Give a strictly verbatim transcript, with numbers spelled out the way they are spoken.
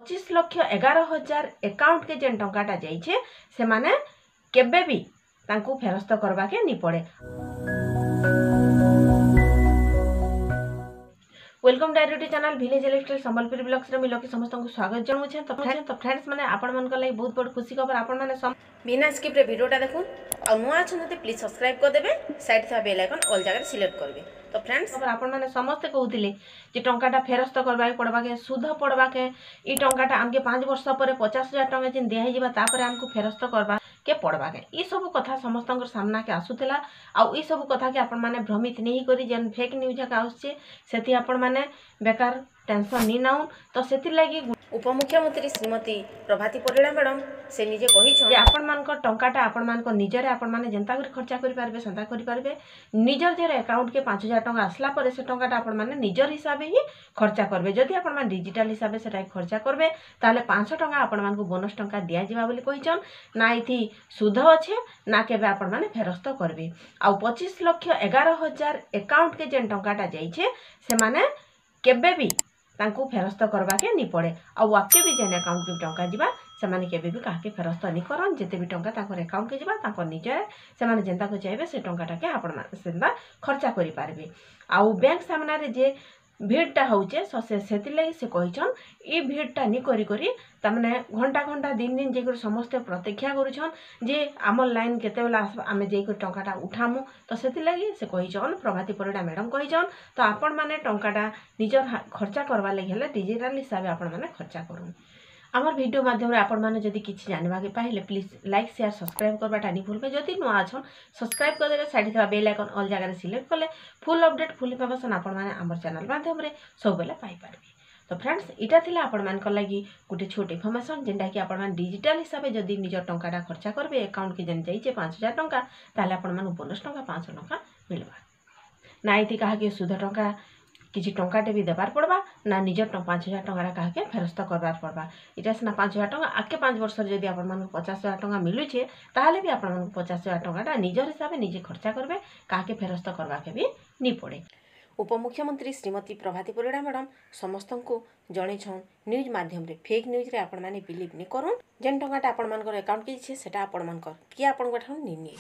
ପଚିଶ ଲକ୍ଷ ଏଗାର ହଜାର ଆକାଉଣ୍ଟକେ ଯେନ୍ ଟଙ୍କାଟା ଯାଇଛେ, ସେମାନେ କେବେ ବି ତାଙ୍କୁ ଫେରସ୍ତ କରବାକେ ନି ପଡ଼େ। Welcome direct channel village electric Sambalpuri ବ୍ଲଗ୍ସରେ ମୁଇଁ ଲକି ସମସ୍ତଙ୍କୁ ସ୍ୱାଗତ ଜଣାଉଛେ। ତ ତ ଫ୍ରେଣ୍ଡସ୍ ମାନେ, ଆପଣମାନଙ୍କ ଲାଗି ବହୁତ ବଡ଼ ଖୁସି ଖବର। ଆପଣମାନେ ବିନା ସ୍କିପ୍ରେ ଭିଡ଼ିଓଟା ଦେଖୁନ୍ ଆଉ ନୂଆ ଅଛନ୍ତି ଯଦି ପ୍ଲିଜ୍ ସବସ୍କ୍ରାଇବ୍ କରିଦେବେ, ସାଇଡ୍ ଥିବା ବେଲ୍ ଆଇକନ୍ ଅଲ୍ ଜାଗାରେ ସିଲେକ୍ଟ କରିବେ। ତ ଫ୍ରେଣ୍ଡସ୍, ଆପଣମାନେ ସମସ୍ତେ କହୁଥିଲେ ଯେ ଟଙ୍କାଟା ଫେରସ୍ତ କରବାକେ ପଡ଼ବାକେ, ସୁଧ ପଡ଼ବାକେ, ଇ ଟଙ୍କାଟା ଆମକେ ପାଞ୍ଚ ବର୍ଷ ପରେ ପଚାଶ ହଜାର ଟଙ୍କା ଯେନ୍ ଦିଆ ହେଇଯିବା, ତାପରେ ଆମକୁ ଫେରସ୍ତ କରବା କେ ପଡ଼ବାକେ। ଇ ସବୁ କଥା ସମସ୍ତଙ୍କର ସାମ୍ନାକେ ଆସୁଥିଲା। ଆଉ ଇ ସବୁ କଥାକେ ଆପଣମାନେ ଭ୍ରମିତ ନେଇ କରି ଯେନ୍ ଫେକ୍ ନ୍ୟୁଜ୍ ଏକା ଆସୁଛେ, ସେଥି ଆପଣମାନେ ବେକାର ଟେନସନ୍ ନି ନାଉନ୍। ତ ସେଥିର୍ଲାଗି ଉପମୁଖ୍ୟମନ୍ତ୍ରୀ ଶ୍ରୀମତୀ ପ୍ରଭାତୀ ପରିଡ଼ା ମ୍ୟାଡ଼ାମ୍ ସେ ନିଜେ କହିଛନ୍ ଯେ ଆପଣମାନଙ୍କ ଟଙ୍କାଟା ଆପଣମାନଙ୍କ ନିଜରେ ଆପଣମାନେ ଯେନ୍ତା କରି ଖର୍ଚ୍ଚା କରିପାରିବେ, ସେନ୍ତା କରିପାରିବେ। ନିଜର ନିଜର ଆକାଉଣ୍ଟକେ ପାଞ୍ଚ ହଜାର ଟଙ୍କା ଆସିଲା ପରେ ସେ ଟଙ୍କାଟା ଆପଣମାନେ ନିଜର ହିସାବେ ହିଁ ଖର୍ଚ୍ଚା କରିବେ। ଯଦି ଆପଣମାନେ ଡିଜିଟାଲ ହିସାବେ ସେଟା ଖର୍ଚ୍ଚା କରିବେ, ତାହେଲେ ପାଞ୍ଚଶହ ଟଙ୍କା ଆପଣମାନଙ୍କୁ ବୋନସ୍ ଟଙ୍କା ଦିଆଯିବା ବୋଲି କହିଛନ୍। ନା ଏଥି ସୁଧ ଅଛେ, ନା କେବେ ଆପଣମାନେ ଫେରସ୍ତ କରିବେ। ଆଉ ପଚିଶ ଲକ୍ଷ ଏଗାର ହଜାର ଆକାଉଣ୍ଟକେ ଯେନ୍ ଟଙ୍କାଟା ଯାଇଛେ, ସେମାନେ କେବେ ବି ତାଙ୍କୁ ଫେରସ୍ତ କରବାକେ ନି ପଡ଼େ। ଆଉ ଆଗ୍କେ ବି ଯେନ୍ ଆକାଉଣ୍ଟକେ ଟଙ୍କା ଯିବା, ସେମାନେ କେବେ ବି କାହାକେ ଫେରସ୍ତ ନି କରନ୍। ଯେତେ ବି ଟଙ୍କା ତାଙ୍କର ଆକାଉଣ୍ଟକେ ଯିବା, ତାଙ୍କର ନିଜରେ ସେମାନେ ଯେନ୍ତାକୁ ଚାହିଁବେ, ସେ ଟଙ୍କାଟାକେ ଆପଣମାନେ ସେନ୍ତା ଖର୍ଚ୍ଚା କରିପାରିବେ। ଆଉ ବ୍ୟାଙ୍କ ସାମ୍ନାରେ ଯେ ଭିଡ଼ଟା ହଉଛେ, ସେ ସେଥିର୍ଲାଗି ସେ କହିଛନ୍, ଇ ଭିଡ଼ଟା ନି କରି କରି, ତାମାନେ ଘଣ୍ଟା ଘଣ୍ଟା ଦିନ ଦିନ ଯାଇକରି ସମସ୍ତେ ପ୍ରତୀକ୍ଷା କରୁଛନ୍ ଯେ ଆମର୍ ଲାଇନ୍ କେତେବେଲେ ଆସ୍ବା, ଆମେ ଯାଇକରି ଟଙ୍କାଟା ଉଠାମୁ। ତ ସେଥିର୍ଲାଗି ସେ କହିଛନ୍, ପ୍ରଭାତୀ ପରିଡ଼ା ମ୍ୟାଡ଼ାମ୍ କହିଛନ୍, ତ ଆପଣମାନେ ଟଙ୍କାଟା ନିଜର ଖର୍ଚ୍ଚା କରବାର୍ ଲାଗି ହେଲେ ଡିଜିଟାଲ ହିସାବେ ଆପଣମାନେ ଖର୍ଚ୍ଚା କରୁନ୍। ଆମର ଭିଡ଼ିଓ ମାଧ୍ୟମରେ ଆପଣମାନେ ଯଦି କିଛି ଜାଣିବାକେ ପାଇଲେ, ପ୍ଲିଜ୍ ଲାଇକ୍, ସେୟାର, ସବସ୍କ୍ରାଇବ୍ କରବାଟା ନି ଭୁଲବେ। ଯଦି ନୂଆ ଅଛନ୍, ସବସ୍କ୍ରାଇବ୍ କରିଦେବେ, ସାଇଡ଼୍ ଥିବା ବେଲ୍ ଆଇକନ୍ ଅଲ୍ ଜାଗାରେ ସିଲେକ୍ଟ କଲେ ଫୁଲ୍ ଅପଡେଟ୍, ଫୁଲ୍ ଇନଫର୍ମେସନ୍ ଆପଣମାନେ ଆମର ଚ୍ୟାନେଲ୍ ମାଧ୍ୟମରେ ସବୁବେଲେ ପାଇପାରିବେ। ତ ଫ୍ରେଣ୍ଡସ୍, ଏଇଟା ଥିଲା ଆପଣମାନଙ୍କ ଲାଗି ଗୋଟେ ଛୋଟ ଇନଫର୍ମେସନ୍, ଯେନ୍ଟାକି ଆପଣମାନେ ଡିଜିଟାଲ ହିସାବେ ଯଦି ନିଜର ଟଙ୍କାଟା ଖର୍ଚ୍ଚା କରିବେ, ଆକାଉଣ୍ଟକେ ଯେନ୍ ଯାଇଛେ ପାଞ୍ଚ ହଜାର ଟଙ୍କା, ତାହେଲେ ଆପଣମାନଙ୍କୁ ବୋନସ୍ ଟଙ୍କା ପାଞ୍ଚଶହ ଟଙ୍କା ମିଳବା। ନା ଏଥି କାହାକେ ସୁଧ ଟଙ୍କା କିଛି ଟଙ୍କାଟେ ବି ଦେବାର ପଡ଼ବା, ନା ନିଜର ପାଞ୍ଚ ହଜାର ଟଙ୍କାଟା କାହାକେ ଫେରସ୍ତ କରବାର ପଡ଼ବା। ଏଇଟା ସିନା ପାଞ୍ଚ ହଜାର ଟଙ୍କା, ଆଗକେ ପାଞ୍ଚ ବର୍ଷରେ ଯଦି ଆପଣମାନଙ୍କୁ ପଚାଶ ହଜାର ଟଙ୍କା ମିଳୁଛେ, ତାହେଲେ ବି ଆପଣମାନଙ୍କୁ ପଚାଶ ହଜାର ଟଙ୍କାଟା ନିଜର ହିସାବେ ନିଜେ ଖର୍ଚ୍ଚା କରିବେ, କାହାକେ ଫେରସ୍ତ କରବାକେ ବି ନି ପଡ଼େ। ଉପମୁଖ୍ୟମନ୍ତ୍ରୀ ଶ୍ରୀମତୀ ପ୍ରଭାତୀ ପରିଡ଼ା ମ୍ୟାଡ଼ାମ୍ ସମସ୍ତଙ୍କୁ ଜଣେଇଛନ୍ ନ୍ୟୁଜ୍ ମାଧ୍ୟମରେ। ଫେକ୍ ନ୍ୟୁଜ୍ରେ ଆପଣମାନେ ବିଲିଭ୍ ନି କରୁନ୍। ଯେନ୍ ଟଙ୍କାଟା ଆପଣମାନଙ୍କର ଆକାଉଣ୍ଟକେ ଯାଇଛେ, ସେଟା ଆପଣମାନଙ୍କର, କିଏ ଆପଣଙ୍କ ଠାରୁ ନି ନିଏ।